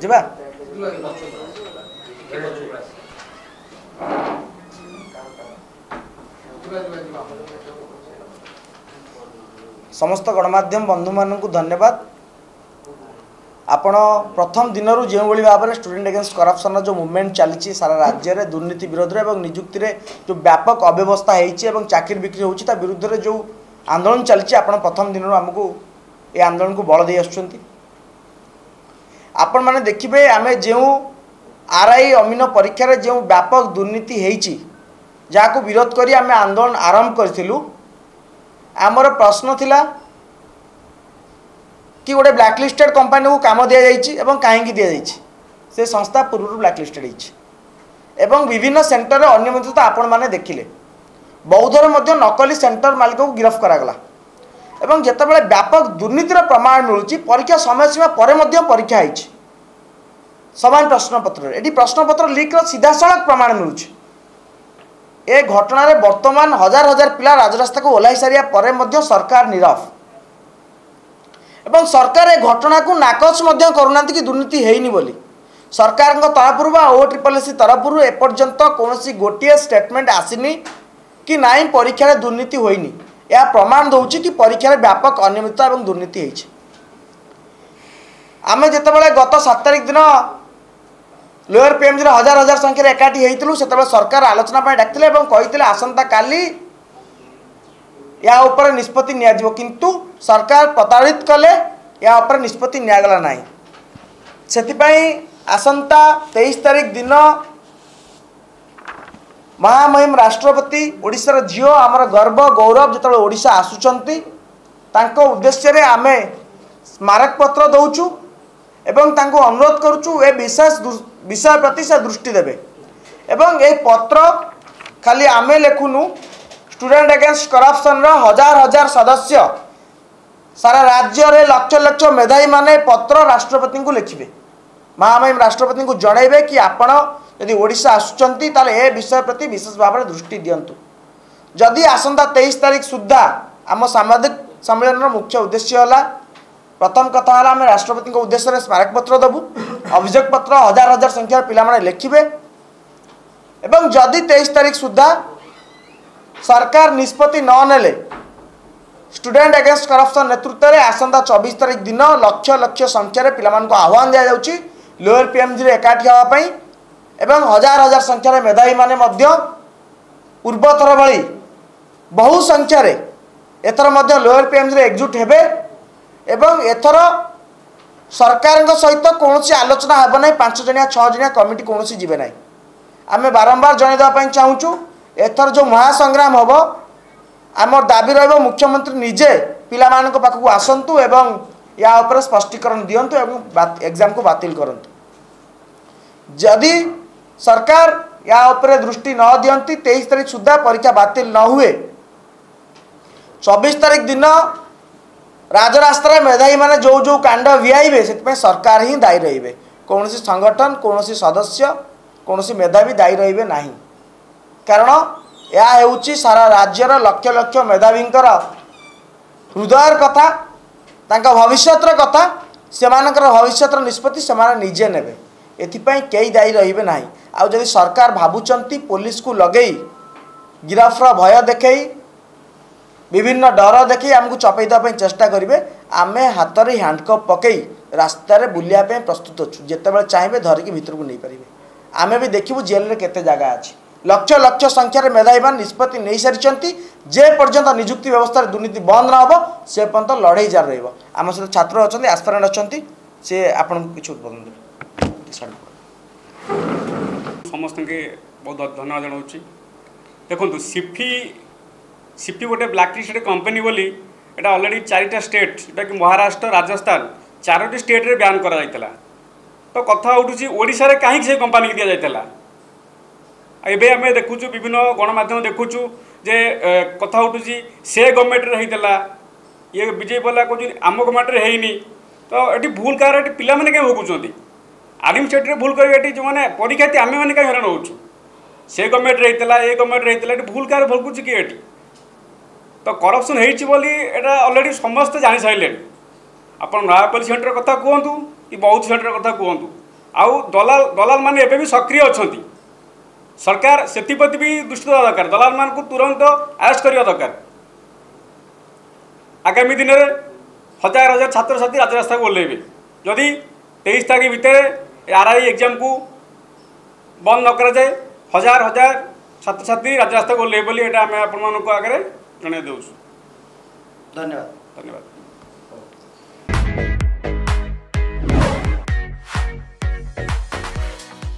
ଯିବା। ସମସ୍ତ ଗଣମାଧ୍ୟମ ବନ୍ଧୁମାନଙ୍କୁ ଧନ୍ୟବାଦ। ଆପଣ ପ୍ରଥମ ଦିନରୁ ଯେଉଁଭଳି ଭାବରେ ଷ୍ଟୁଡେଣ୍ଟ ଏଗେନ୍ଷ୍ଟ କରପ୍ସନ୍ର ଯେଉଁ ମୁଭମେଣ୍ଟ ଚାଲିଛି ସାରା ରାଜ୍ୟରେ ଦୁର୍ନୀତି ବିରୋଧରେ ଏବଂ ନିଯୁକ୍ତିରେ ଯେଉଁ ବ୍ୟାପକ ଅବ୍ୟବସ୍ଥା ହେଇଛି ଏବଂ ଚାକିରି ବିକ୍ରି ହେଉଛି ତା ବିରୁଦ୍ଧରେ ଯେଉଁ ଆନ୍ଦୋଳନ ଚାଲିଛି, ଆପଣ ପ୍ରଥମ ଦିନରୁ ଆମକୁ ଏ ଆନ୍ଦୋଳନକୁ ବଳ ଦେଇ ଆସୁଛନ୍ତି। ଆପଣମାନେ ଦେଖିବେ ଆମେ ଯେଉଁ ଆର୍ I ଅମିନ ପରୀକ୍ଷାରେ ଯେଉଁ ବ୍ୟାପକ ଦୁର୍ନୀତି ହେଇଛି ଯାହାକୁ ବିରୋଧ କରି ଆମେ ଆନ୍ଦୋଳନ ଆରମ୍ଭ କରିଥିଲୁ, ଆମର ପ୍ରଶ୍ନ ଥିଲା କି ଗୋଟେ ବ୍ଲାକଲିଷ୍ଟେଡ୍ କମ୍ପାନୀକୁ କାମ ଦିଆଯାଇଛି ଏବଂ କାହିଁକି ଦିଆଯାଇଛି, ସେ ସଂସ୍ଥା ପୂର୍ବରୁ ବ୍ଲାକଲିଷ୍ଟେଡ୍ ହେଇଛି ଏବଂ ବିଭିନ୍ନ ସେଣ୍ଟରରେ ଅନିୟମିତତା ଆପଣମାନେ ଦେଖିଲେ। ବୌଦ୍ଧରେ ମଧ୍ୟ ନକଲି ସେଣ୍ଟର ମାଲିକକୁ ଗିରଫ କରାଗଲା ଏବଂ ଯେତେବେଳେ ବ୍ୟାପକ ଦୁର୍ନୀତିର ପ୍ରମାଣ ମିଳୁଛି, ପରୀକ୍ଷା ସମୟସୀମା ପରେ ମଧ୍ୟ ପରୀକ୍ଷା ହେଇଛି ସମାନ ପ୍ରଶ୍ନପତ୍ରରେ, ଏଠି ପ୍ରଶ୍ନପତ୍ର ଲିକ୍ର ସିଧାସଳଖ ପ୍ରମାଣ ମିଳୁଛି। ଏ ଘଟଣାରେ ବର୍ତ୍ତମାନ ହଜାର ହଜାର ପିଲା ରାଜରାସ୍ତାକୁ ଓହ୍ଲାଇ ସାରିବା ପରେ ମଧ୍ୟ ସରକାର ନୀରବ ଏବଂ ସରକାର ଏ ଘଟଣାକୁ ନାକଚ ମଧ୍ୟ କରୁନାହାନ୍ତି କି ଦୁର୍ନୀତି ହେଇନି ବୋଲି। ସରକାରଙ୍କ ତରଫରୁ ବା ଓ ଟ୍ରିପଲ୍ ଏସ୍ ସି ତରଫରୁ ଏପର୍ଯ୍ୟନ୍ତ କୌଣସି ଗୋଟିଏ ଷ୍ଟେଟମେଣ୍ଟ ଆସିନି କି ନାଇଁ ପରୀକ୍ଷାରେ ଦୁର୍ନୀତି ହୋଇନି। ଏହା ପ୍ରମାଣ ଦେଉଛି କି ପରୀକ୍ଷାରେ ବ୍ୟାପକ ଅନିୟମିତତା ଏବଂ ଦୁର୍ନୀତି ହେଇଛି। ଆମେ ଯେତେବେଳେ ଗତ 7 ତାରିଖ ଦିନ ଲୋୟର ପିଏମ୍ଜିର ହଜାର ହଜାର ସଂଖ୍ୟାରେ ଏକାଠି ହେଇଥିଲୁ, ସେତେବେଳେ ସରକାର ଆଲୋଚନା ପାଇଁ ଡାକିଥିଲେ ଏବଂ କହିଥିଲେ ଆସନ୍ତାକାଲି ଏହା ଉପରେ ନିଷ୍ପତ୍ତି ନିଆଯିବ, କିନ୍ତୁ ସରକାର ପ୍ରତାରିତ କଲେ, ଏହା ଉପରେ ନିଷ୍ପତ୍ତି ନିଆଗଲା ନାହିଁ। ସେଥିପାଇଁ ଆସନ୍ତା 23 ତାରିଖ ଦିନ ମହାମହିମ ରାଷ୍ଟ୍ରପତି, ଓଡ଼ିଶାର ଝିଅ, ଆମର ଗର୍ବ ଗୌରବ ଯେତେବେଳେ ଓଡ଼ିଶା ଆସୁଛନ୍ତି, ତାଙ୍କ ଉଦ୍ଦେଶ୍ୟରେ ଆମେ ସ୍ମାରକପତ୍ର ଦେଉଛୁ ଏବଂ ତାଙ୍କୁ ଅନୁରୋଧ କରୁଛୁ ଏ ବିଶେଷ ବିଷୟ ପ୍ରତି ସେ ଦୃଷ୍ଟି ଦେବେ। ଏବଂ ଏହି ପତ୍ର ଖାଲି ଆମେ ଲେଖୁନୁ, ଷ୍ଟୁଡେଣ୍ଟ ଏଗେନ୍ଷ୍ଟ କରପ୍ସନ୍ର ହଜାର ହଜାର ସଦସ୍ୟ ସାରା ରାଜ୍ୟରେ ଲକ୍ଷ ଲକ୍ଷ ମେଧାବୀମାନେ ପତ୍ର ରାଷ୍ଟ୍ରପତିଙ୍କୁ ଲେଖିବେ, ମହାମହିମ ରାଷ୍ଟ୍ରପତିଙ୍କୁ ଜଣାଇବେ କି ଆପଣ ଯଦି ଓଡ଼ିଶା ଆସୁଛନ୍ତି ତାହେଲେ ଏ ବିଷୟ ପ୍ରତି ବିଶେଷ ଭାବରେ ଦୃଷ୍ଟି ଦିଅନ୍ତୁ। ଯଦି ଆସନ୍ତା 23 ତାରିଖ ସୁଦ୍ଧା ଆମ ସାମ୍ବାଦିକ ସମ୍ମିଳନୀର ମୁଖ୍ୟ ଉଦ୍ଦେଶ୍ୟ ହେଲା, ପ୍ରଥମ କଥା ହେଲା ଆମେ ରାଷ୍ଟ୍ରପତିଙ୍କ ଉଦ୍ଦେଶ୍ୟରେ ସ୍ମାରକପତ୍ର ଦେବୁ, ଅଭିଯୋଗ ପତ୍ର ହଜାର ହଜାର ସଂଖ୍ୟାର ପିଲାମାନେ ଲେଖିବେ ଏବଂ ଯଦି 23 ତାରିଖ ସୁଦ୍ଧା ସରକାର ନିଷ୍ପତ୍ତି ନ ନେଲେ ଷ୍ଟୁଡେଣ୍ଟ ଏଗେନ୍ଷ୍ଟ କରପ୍ସନ୍ ନେତୃତ୍ୱରେ ଆସନ୍ତା 24 ତାରିଖ ଦିନ ଲକ୍ଷ ଲକ୍ଷ ସଂଖ୍ୟାରେ ପିଲାମାନଙ୍କୁ ଆହ୍ୱାନ ଦିଆଯାଉଛି ଲୋୟର ପିଏମ୍ଜିରେ ଏକାଠି ହେବା ପାଇଁ ଏବଂ ହଜାର ହଜାର ସଂଖ୍ୟାରେ ମେଧାବୀମାନେ ମଧ୍ୟ ପୂର୍ବଥର ଭଳି ବହୁ ସଂଖ୍ୟାରେ ଏଥର ମଧ୍ୟ ଲୋୟର ପିଏମ୍ଜିରେ ଏକଜୁଟ ହେବେ ଏବଂ ଏଥର ସରକାରଙ୍କ ସହିତ କୌଣସି ଆଲୋଚନା ହେବ ନାହିଁ, 5 ଜଣିଆ 6 ଜଣିଆ କମିଟି କୌଣସି ଯିବେ ନାହିଁ। ଆମେ ବାରମ୍ବାର ଜଣାଇ ଦେବା ପାଇଁ ଚାହୁଁଛୁ ଏଥର ଯେଉଁ ମହାସଂଗ୍ରାମ ହେବ, ଆମର ଦାବି ରହିବ ମୁଖ୍ୟମନ୍ତ୍ରୀ ନିଜେ ପିଲାମାନଙ୍କ ପାଖକୁ ଆସନ୍ତୁ ଏବଂ ୟା ଉପରେ ସ୍ପଷ୍ଟୀକରଣ ଦିଅନ୍ତୁ ଏବଂ ଏକ୍ଜାମକୁ ବାତିଲ କରନ୍ତୁ। ଯଦି ସରକାର ୟା ଉପରେ ଦୃଷ୍ଟି ନ ଦିଅନ୍ତି, 23 ତାରିଖ ସୁଦ୍ଧା ପରୀକ୍ଷା ବାତିଲ ନ ହୁଏ, 24 ତାରିଖ ଦିନ ରାଜରାସ୍ତାରେ ମେଧାବୀମାନେ ଯେଉଁ ଯେଉଁ କାଣ୍ଡ ଭିଆଇବେ ସେଥିପାଇଁ ସରକାର ହିଁ ଦାୟୀ ରହିବେ, କୌଣସି ସଂଗଠନ, କୌଣସି ସଦସ୍ୟ, କୌଣସି ମେଧାବୀ ଦାୟୀ ରହିବେ ନାହିଁ। କାରଣ ଏହା ହେଉଛି ସାରା ରାଜ୍ୟର ଲକ୍ଷ ଲକ୍ଷ ମେଧାବୀଙ୍କର ହୃଦୟର କଥା, ତାଙ୍କ ଭବିଷ୍ୟତର କଥା, ସେମାନଙ୍କର ଭବିଷ୍ୟତର ନିଷ୍ପତ୍ତି ସେମାନେ ନିଜେ ନେବେ, ଏଥିପାଇଁ କେହି ଦାୟୀ ରହିବେ ନାହିଁ। ଆଉ ଯଦି ସରକାର ଭାବୁଛନ୍ତି ପୋଲିସକୁ ଲଗେଇ ଗିରଫର ଭୟ ଦେଖେଇ ବିଭିନ୍ନ ଡର ଦେଖେଇ ଆମକୁ ଚପେଇ ଦେବା ପାଇଁ ଚେଷ୍ଟା କରିବେ, ଆମେ ହାତରେ ହ୍ୟାଣ୍ଡକପ୍ ପକେଇ ରାସ୍ତାରେ ବୁଲିବା ପାଇଁ ପ୍ରସ୍ତୁତ ଅଛୁ, ଯେତେବେଳେ ଚାହିଁବେ ଧରିକି ଭିତରକୁ ନେଇପାରିବେ। ଆମେ ବି ଦେଖିବୁ ଜେଲରେ କେତେ ଜାଗା ଅଛି। ଲକ୍ଷ ଲକ୍ଷ ସଂଖ୍ୟାରେ ମେଧାବୀମାନେ ନିଷ୍ପତ୍ତି ନେଇସାରିଛନ୍ତି, ଯେ ପର୍ଯ୍ୟନ୍ତ ନିଯୁକ୍ତି ବ୍ୟବସ୍ଥାରେ ଦୁର୍ନୀତି ବନ୍ଦ ନ ହେବ ସେ ପର୍ଯ୍ୟନ୍ତ ଲଢ଼େଇ ଜାରି ରହିବ। ଆମ ସହିତ ଛାତ୍ର ଅଛନ୍ତି, ଆସ୍ପିରାଣ୍ଟ ଅଛନ୍ତି, ସେ ଆପଣଙ୍କୁ କିଛି ଉଦ୍ବୋଧନ ଦେବେ। ସମସ୍ତଙ୍କୁ ବହୁତ ଧନ୍ୟବାଦ ଜଣାଉଛି। ଦେଖନ୍ତୁ, ସିଫି ଗୋଟେ ବ୍ଲାକ୍ ଲିଷ୍ଟେଡ୍ କମ୍ପାନୀ ବୋଲି ଏଇଟା ଅଲରେଡ଼ି 4ଟା ଷ୍ଟେଟ୍, ଯେଉଁଟାକି ମହାରାଷ୍ଟ୍ର, ରାଜସ୍ଥାନ, 4ଟି ଷ୍ଟେଟ୍ରେ ବ୍ୟାନ୍ କରାଯାଇଥିଲା। ତ କଥା ଉଠୁଛି ଓଡ଼ିଶାରେ କାହିଁକି ସେ କମ୍ପାନୀକି ଦିଆଯାଇଥିଲା? ଏବେ ଆମେ ଦେଖୁଛୁ ବିଭିନ୍ନ ଗଣମାଧ୍ୟମ ଦେଖୁଛୁ ଯେ କଥା ଉଠୁଛି ସେ ଗଭର୍ଣ୍ଣମେଣ୍ଟରେ ହେଇଥିଲା, ଇଏ ବିଜେପି ବାଲା କହୁଛନ୍ତି ଆମ ଗଭର୍ଣ୍ଣମେଣ୍ଟରେ ହେଇନି। ତ ଏଠି ଭୁଲ କାହାର? ଏଠି ପିଲାମାନେ କାହିଁ ଭୋଗୁଛନ୍ତି? ଆଡମିନିଷ୍ଟ୍ରେଟରେ ଭୁଲ କରିବେ, ଏଠି ଯେଉଁମାନେ ପରୀକ୍ଷାର୍ଥୀ ଆମେମାନେ କାହିଁ ହଇରାଣ ହେଉଛୁ? ସେ ଗଭର୍ଣ୍ଣମେଣ୍ଟରେ ହେଇଥିଲା, ଏ ଗଭର୍ଣ୍ଣମେଣ୍ଟରେ ହେଇଥିଲା, ଏଠି ଭୁଲ କାହାର ଭୋଗୁଛି କିଏ? ଏଠି ତ କରପ୍ସନ୍ ହେଇଛି ବୋଲି ଏଇଟା ଅଲରେଡ଼ି ସମସ୍ତେ ଜାଣିସାରିଲେଣି। ଆପଣ ନୟାପଲ୍ଲୀ ସେଣ୍ଟର କଥା କୁହନ୍ତୁ କି ବୌଦ୍ଧ ସେଣ୍ଟର କଥା କୁହନ୍ତୁ, ଆଉ ଦଲାଲ ମାନେ ଏବେ ବି ସକ୍ରିୟ ଅଛନ୍ତି। ସରକାର ସେଥିପ୍ରତି ବି ଦୃଷ୍ଟି ଦେବା ଦରକାର। ଦଲାଲମାନଙ୍କୁ ତୁରନ୍ତ ଆରେଷ୍ଟ କରିବା ଦରକାର। ଆଗାମୀ ଦିନରେ ହଜାର ହଜାର ଛାତ୍ରଛାତ୍ରୀ ରାଜରାସ୍ତାକୁ ଓହ୍ଲାଇବେ ଯଦି 23 ତାରିଖ ଭିତରେ ଆର୍ I ଏକ୍ଜାମକୁ ବନ୍ଦ ନ କରାଯାଏ। ହଜାର ହଜାର ଛାତ୍ରଛାତ୍ରୀ ରାଜରାସ୍ତାକୁ ଓହ୍ଲାଇବେ ବୋଲି ଏଇଟା ଆମେ ଆପଣମାନଙ୍କ ଆଗରେ ଜଣାଇ ଦେଉଛୁ। ଧନ୍ୟବାଦ। ଧନ୍ୟବାଦ।